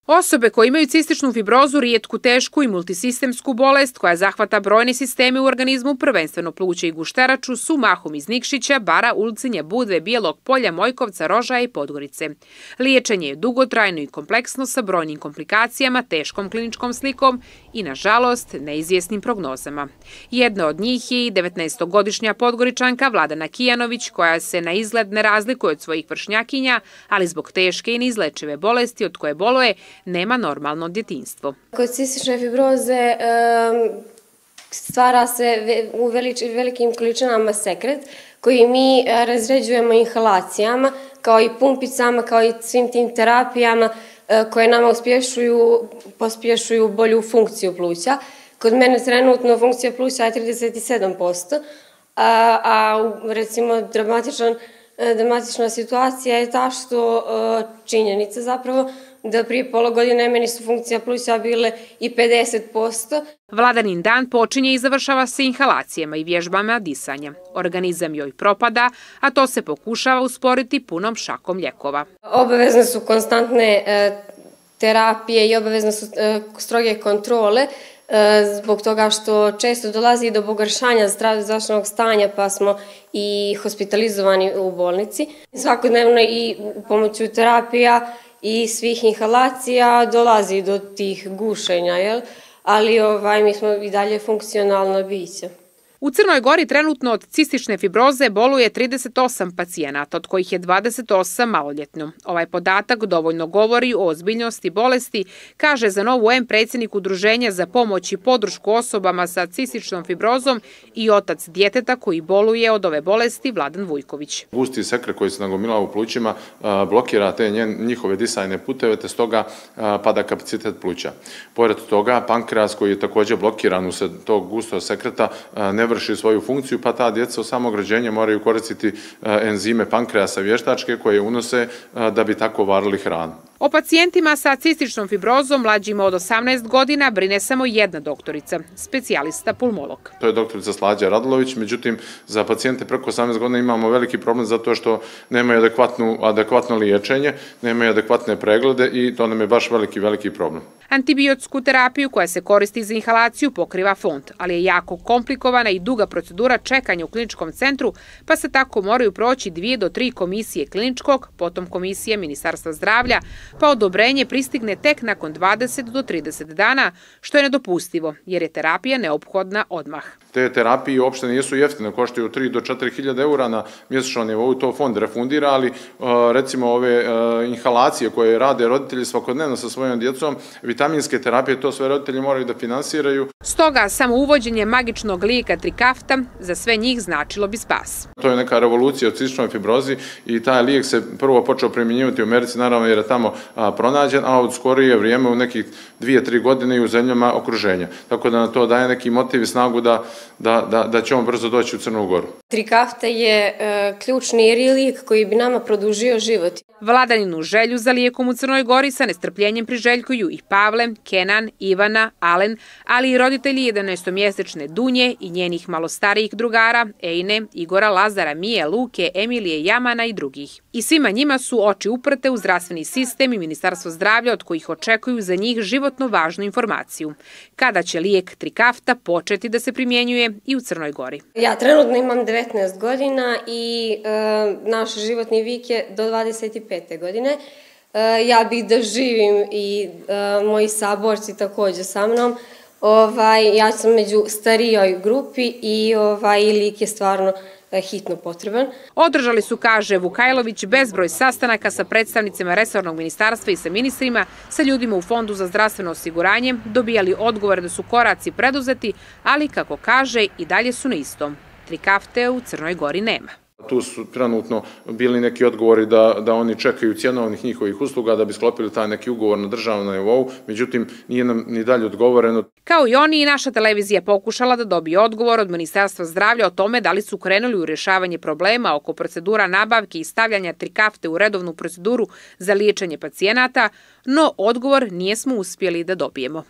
Osobe koje imaju cističnu fibrozu, rijetku, tešku i multisistemsku bolest koja zahvata brojne sisteme u organizmu, prvenstveno pluća i gušteraču, su mahom iz Nikšića, Bara, Ulcinja, Budve, Bijelog Polja, Mojkovca, Rožaja i Podgorice. Liječenje je dugotrajno i kompleksno sa brojnim komplikacijama, teškom kliničkom slikom i, nažalost, neizvjesnim prognozama. Jedna od njih je i 19-godišnja Podgoričanka Vladana Kijanović, koja se na izgled ne razlikuje od svojih vršnjakinja, ali zbog teške i neizlečive bolesti od koje boluje, nema normalno djetinjstvo. Kod cistične fibroze stvara se u velikim količinama sekret koji mi razređujemo inhalacijama, kao i pumpicama, kao i svim tim terapijama koje nama pospješuju bolju funkciju pluća. Kod mene trenutno funkcija pluća je 37%, a recimo dramatična situacija je ta što činjenica zapravo da prije pola godine meni su funkcija pluća bile i 50%. Vladanin dan počinje i završava se inhalacijama i vježbama disanja. Organizam joj propada, a to se pokušava usporiti punom šakom lijekova. Obavezne su konstantne terapije i obavezne su stroge kontrole, zbog toga što često dolazi do pogoršanja zdravstvenog stanja, pa smo i hospitalizovani u bolnici. Svakodnevno i pomoću terapija i svih inhalacija dolazi do tih gušenja, ali mi smo i dalje funkcionalno biće. U Crnoj Gori trenutno od cistične fibroze boluje 38 pacijenata, od kojih je 28 maloljetno. Ovaj podatak dovoljno govori o ozbiljnosti bolesti, kaže za Novu M predsjednik Udruženja za pomoć i podršku osobama sa cističnom fibrozom i otac djeteta koji boluje od ove bolesti, Vladan Vujković. Gusti sekret koji se nagomilao u plućima blokira te njihove disajne puteve, te stoga pada kapacitet pluća. Pored toga, pankreas koji je također blokiran usred tog gustog sekreta ne vrši svoju funkciju, pa ta djeca od samog rođenja moraju koristiti enzime pankreasa vještačke koje unose da bi tako varili hranu. O pacijentima sa cističnom fibrozom mlađima od 18 godina brine samo jedna doktorica, specijalista pulmolog. To je doktorica Slađa Radulović, međutim za pacijente preko 18 godina imamo veliki problem zato što nemaju adekvatno liječenje, nemaju adekvatne preglede i to nam je baš veliki problem. Antibiotsku terapiju koja se koristi za inhalaciju pokriva fond, ali je jako komplikovana i duga procedura čekanja u kliničkom centru, pa se tako moraju proći 2 do 3 komisije kliničkog, potom komisije Ministarstva zdravlja, pa odobrenje pristigne tek nakon 20 do 30 dana, što je nedopustivo, jer je terapija neophodna odmah. Te terapije uopšte nisu jeftine, koštaju 3 do 4 hiljade eura na mjesečnom nivou, to fond refundira, ali recimo ove inhalacije koje rade roditelji svakodnevno sa svojom djecom, vitaminske terapije, to sve roditelji moraju da finansiraju. Stoga samo uvođenje magičnog lijeka Trikafta za sve njih značilo bi spas. To je neka revolucija u cističnoj fibrozi i taj lijek se prvo počeo primjenjivati u Americi, naravno jer je tamo pronađen, a od skorije vrijeme u nekih 2-3 godine i u zemljama okruženja. Tako da na to daje neki motiv i snagu da će on brzo doći u Crnu Goru. Trikafta je ključni lijek koji bi nama produžio život. Vladaninu želju za lijekom u Crnoj Gori sa nestrpljenjem priželjkuju i Pavle, Kenan, Ivana, Alen, ali i roditelji 11-mjesečne Dunje i njenih malo starijih drugara, Ejne, Igora, Lazara, Mije, Luke, Emilije, Jamana i drugih. I svima njima su oči uprte u zdravstveni sistem i Ministarstvo zdravlja od kojih očekuju za njih životno važnu informaciju. Kada će lijek Trikafta početi da se primjenjuje i u Crnoj Gori? Ja trenutno imam 19 godina i naš životni vijek je do 25. godine. Ja bih da živim i moji saborci također sa mnom. Ja sam među starijoj grupi i lijek je stvarno hitno potreban. Održali su, kaže Vukajlović, bezbroj sastanaka sa predstavnicima resornog ministarstva i sa ministrima, sa ljudima u Fondu za zdravstveno osiguranje, dobijali odgovore da su koraci preduzeti, ali, kako kaže, i dalje su na istom. Trikafte u Crnoj Gori nema. Tu su trenutno bili neki odgovori da oni čekaju cjenovnih njihovih usluga da bi sklopili taj neki ugovor na državnom nivou, međutim nije nam ni dalje odgovoreno. Kao i oni, i naša televizija pokušala da dobije odgovor od Ministarstva zdravlja o tome da li su krenuli u rješavanje problema oko procedura nabavke i stavljanja Trikafte u redovnu proceduru za liječenje pacijenata, no odgovor nismo uspjeli da dobijemo.